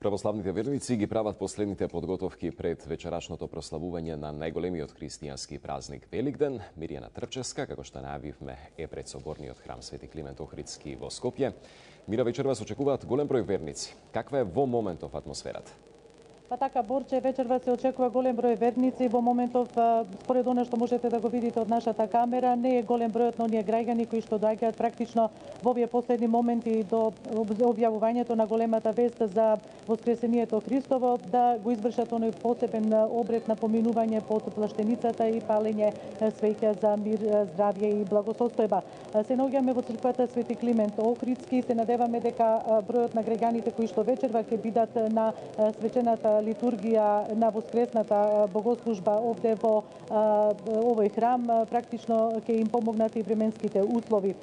Православните верници ги прават последните подготовки пред вечерашното прославување на најголемиот христијански празник Великден. Миријана Трпчевска, како што најавивме, е пред соборниот храм Свети Климент Охридски во Скопје. Мира, вечер вас очекуваат голем број верници. Каква е во моментов атмосферата? Па така, Борче, вечерва се очекува голем број верници. Во моментов, според она што можете да го видите од нашата камера, не е голем бројот на оние граѓани кои што доаѓаат практично во овие последни моменти до објавувањето на големата вест за Воскресението Христово, да го извршат оној посебен обред на поминување под плаштеницата и палење свеќа за мир, здравје и благосостојба. Се наоѓаме во црквата Свети Климент Охридски. Се надеваме дека бројот на граѓаните кои што вечерва ќе бидат на свечената литургија на воскресната богослужба овде во овој храм практично ќе им помогнат и временските услови.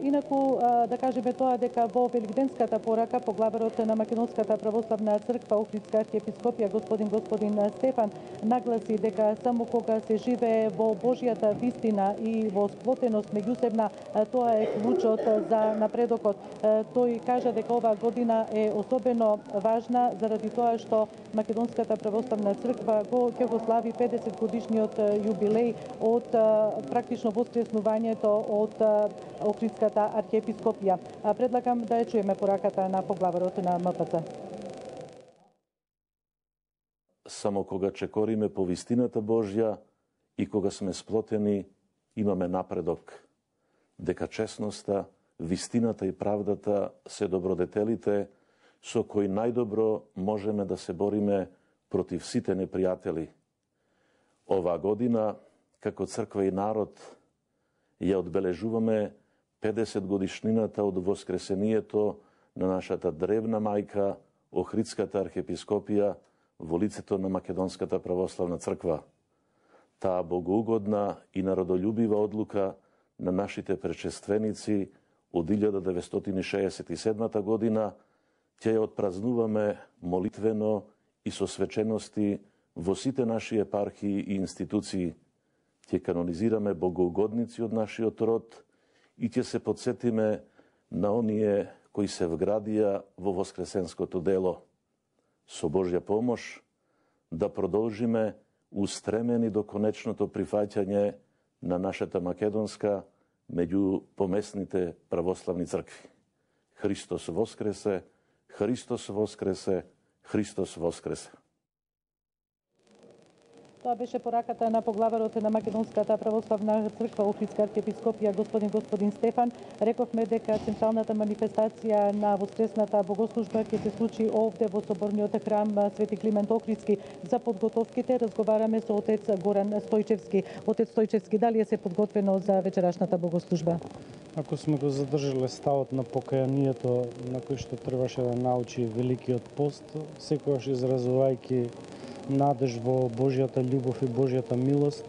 Инаку да кажеме тоа дека во великденската порака поглаварот на Македонската православна црква Охридска архиепископија господин Стефан нагласи дека само кога се живее во Божјата вистина и во сплотеност меѓусебна, тоа е клучот за напредокот. Тој кажа дека оваа година е особено важна заради тоа што Македонската православна црква ќе го слави 50 годишниот јубилеј од практично воскреснувањето од Охридската архиепископија. Предлагам да ја чуеме пораката на поглаварот на МПЦ. Само кога чекориме по вистината Божја и кога сме сплотени, имаме напредок. Дека честноста, вистината и правдата се добродетелите со кои најдобро можеме да се бориме против сите непријатели. Оваа година, како црква и народ, ја одбележуваме 50 годишнината од воскресението на нашата древна мајка, Охридската архиепископија, во лицето на Македонската православна црква. Таа богоугодна и народолюбива одлука на нашите предшественици од 1967 година ќе ја отпразнуваме молитвено и со свечености во сите наши епархии и институции. Ќе канонизираме богоугодници од нашиот род и ќе се подсетиме на оние кои се вградија во воскресенското дело. Со Божја помош да продолжиме устремени до конечното прифаќање на нашата македонска меѓу помесните православни цркви. Христос воскресе! Христос воскресе, Христос воскресе. Тоа беше пораката на поглаварот на Македонската православна црква Охридска архиепископија господин Стефан. Рековме дека централната манифестација на воскресната богослужба ќе се случи овде во соборниот храм Свети Климент Охридски. За подготовките разговараме со отец Горан Стојчевски. Отец Стојчевски, дали е се подготвено за вечерашната богослужба? Ако сме го задржале ставот на покајанието на кој што требаше да научи Великиот пост, секогаш изразувајќи надеж во Божјата љубов и Божјата милост,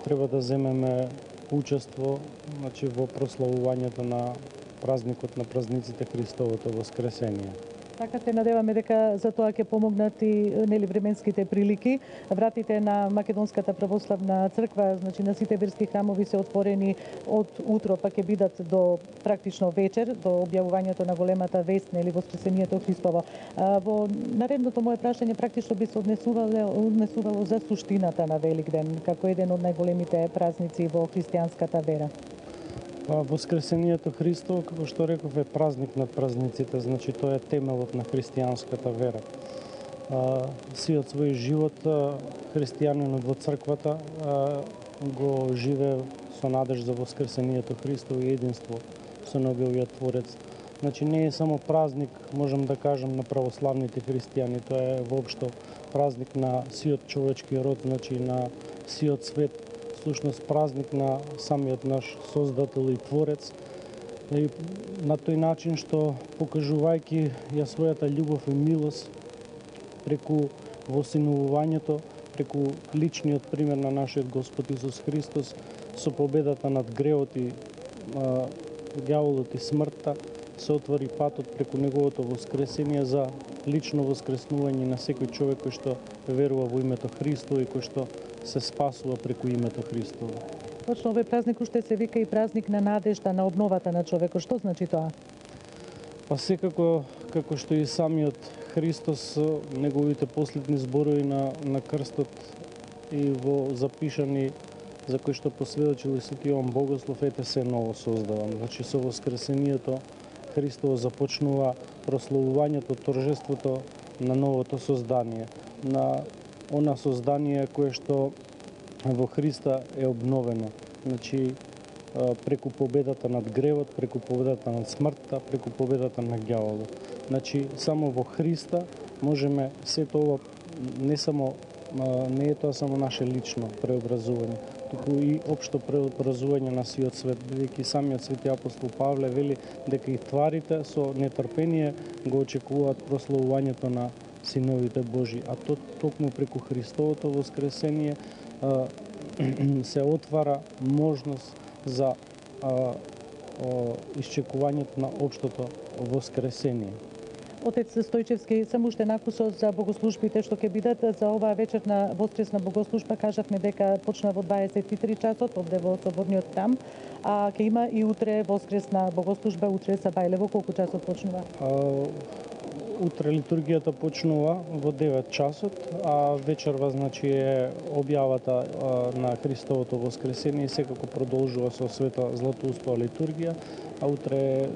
треба да земеме учество во прославувањето на празникот на празниците Христовото воскресение. Така се надеваме дека за тоа ќе помогнат и временските прилики. Вратите на Македонската православна црква, на сите верски храмови се отворени од утро, па ќе бидат до практично вечер, до објавувањето на големата вест, Воскресението Христово. Во наредното мое прашање практично би се однесувало за суштината на Великден, како еден од најголемите празници во христијанската вера. Воскресението Христово, како што реков, е празник над празниците, значи тоа е темелот на христијанската вера. Сиот свој живот христијанинот во црквата го живее со надеж за Воскресението Христово и единство со неговиот Творец. Значи не е само празник, можам да кажам, на православните христијани, тоа е воопшто празник на сиот човечки род, значи на сиот свет. Всушност празник на самиот наш Создател и Творец. И на тој начин што покажувајќи ја својата љубов и милост преку восиновувањето, преку личниот пример на нашиот Господ Исус Христос, со победата над греот и ѓаволот и смртта, се отвори патот преку неговото воскресение за лично воскреснување на секој човек кој што верува во името Христово и кој што се спасува преку името Христово. Точно овој празник уште се вика и празник на надежда, на обновата на човекот. Што значи тоа? Па секако, како што и самиот Христос, неговите последни зборови на крстот и во запишани за кои што посведочил и Свети Јован Богослов, ете се ново создавам. Значи со воскресението Христово започнува прославувањето, торжеството на новото создание, на она создание кое што во Христа е обновено. Значи преку победата над гревот, преку победата над смртта, преку победата на ѓаволот. Значи само во Христа можеме сето ова, не е тоа само наше лично преобразување, туку и општо преобразување на сиот свет, бидејќи самиот Свети апостол Павле вели дека и тварите со нетрпение го очекуваат прославувањето на синовите Божи, а токму преку Христовото воскресение се отвара можност за исчекувањето на општото воскресение. Отец Стојчевски, само уште накусо за богослужбите што ќе бидат за оваа вечерна воскресна богослужба. Кажавме дека почна во 23 часот овде во Соборниот храм, а ќе има и утре воскресна богослужба, утре са Бајлево. Колку часот почнува? Утре литургијата почнува во 9 часот, а вечерва значи е објавата на Христовото воскресение и секако продолжува со света Златоустова литургија, а утре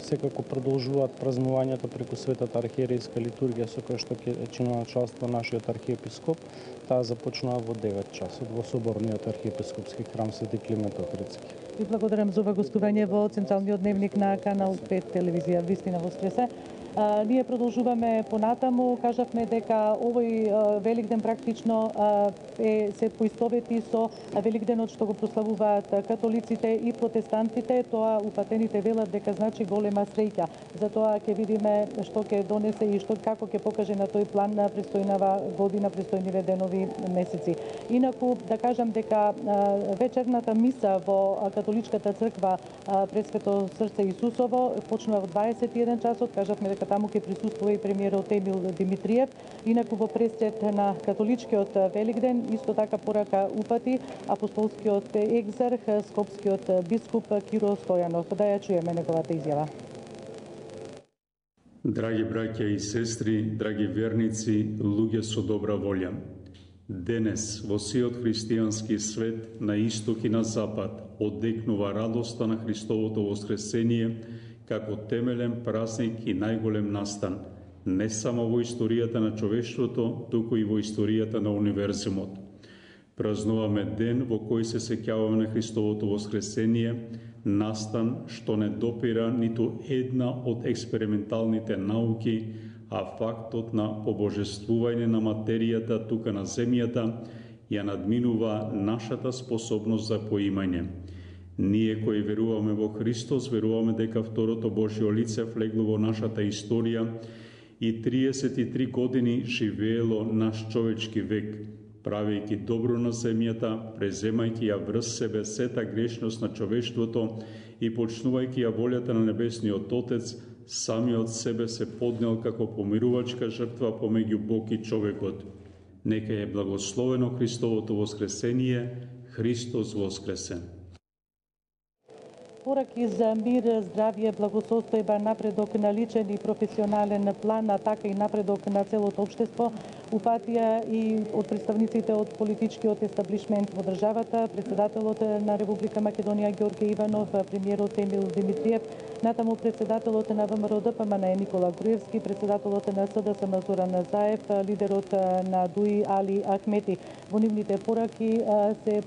секако продолжуваат празнувањето преку светата архиерејска литургија со која што ќе чинува началство нашиот архиепископ. Таа започнува во 9 часот во Соборниот архиепископски храм Свети Климент Охридски. Ви благодарам за ова гостување во Централниот дневник на Канал 5 телевизија. Вистина воскресе. Ние продолжуваме понатаму. Кажавме дека овој Великден практично се поистовети со Великденот што го прославуваат католиците и протестантите. Тоа упатените велат дека значи голема среќа. Затоа ќе видиме што ќе донесе и како ќе покаже на тој план на престојнава година, престојниве денови, месеци. Инаку да кажам дека вечерната миса во католичката црква Пресвето срце Исусово почнува во 21 часот. Кажавме дека таму ќе присуствува и премиерот Емил Димитриев. Инаку во пресцет на католичкиот Великден исто така порака упати апостолскиот екзарх, скопскиот бискуп Киро Стојанов. Да ја чуеме неговата изјава. Драги браќа и сестри, драги верници, луѓе со добра волја. Денес во сиот христијански свет на исток и на запад одекнува радоста на Христовото воскресение како темелен празник и најголем настан, не само во историјата на човештвото, туку и во историјата на универзумот. Празнуваме ден во кој се сеќаваме на Христовото воскресение, настан што не допира ниту една од експерименталните науки, а фактот на побожествување на материјата тука на земјата ја надминува нашата способност за поимање. Ние кои веруваме во Христос, веруваме дека второто Божјо лице влегло во нашата историја и 33 години живеело наш човечки век, правејќи добро на земјата, преземајќи ја врз себе сета грешност на човештвото и почнувајќи ја волјата на Небесниот Отец, самиот себе се поднел како помирувачка жртва помеѓу Бог и човекот. Нека е благословено Христовото воскресение, Христос воскресен. Пораки за мир, здравје, благосостојба, напредок на личен и професионален план, а така и напредок на целото општество, упатија и од представниците од политичкиот естаблишмент во државата, председателот на Република Македонија Ѓорѓе Иванов, премиерот Емил Димитриев, натаму председателот на ВМРО ДПМН Никола Груевски, председателот на СДСМ Зоран Заев, лидерот на ДУИ Али Ахмети. Во нивните пораки се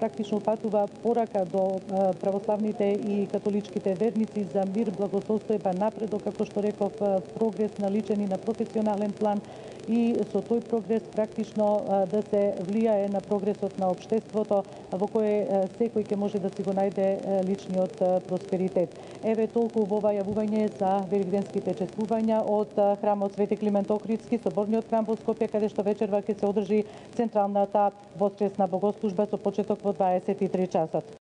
практично упатува порака до православните и католичките верници за мир, благосостојба, напредок, како што реков, прогрес на личен и на професионален план и со тој прогрес практично да се влијае на прогресот на општеството во кое секој ќе може да си го најде личниот просперитет. Еве толку во ова јавување за великденските чествувања од храмот Свети Климент Охридски, Соборниот храм во Скопје, каде што вечерва ќе се одржи централната воскресна богослужба со почеток во 23 часот.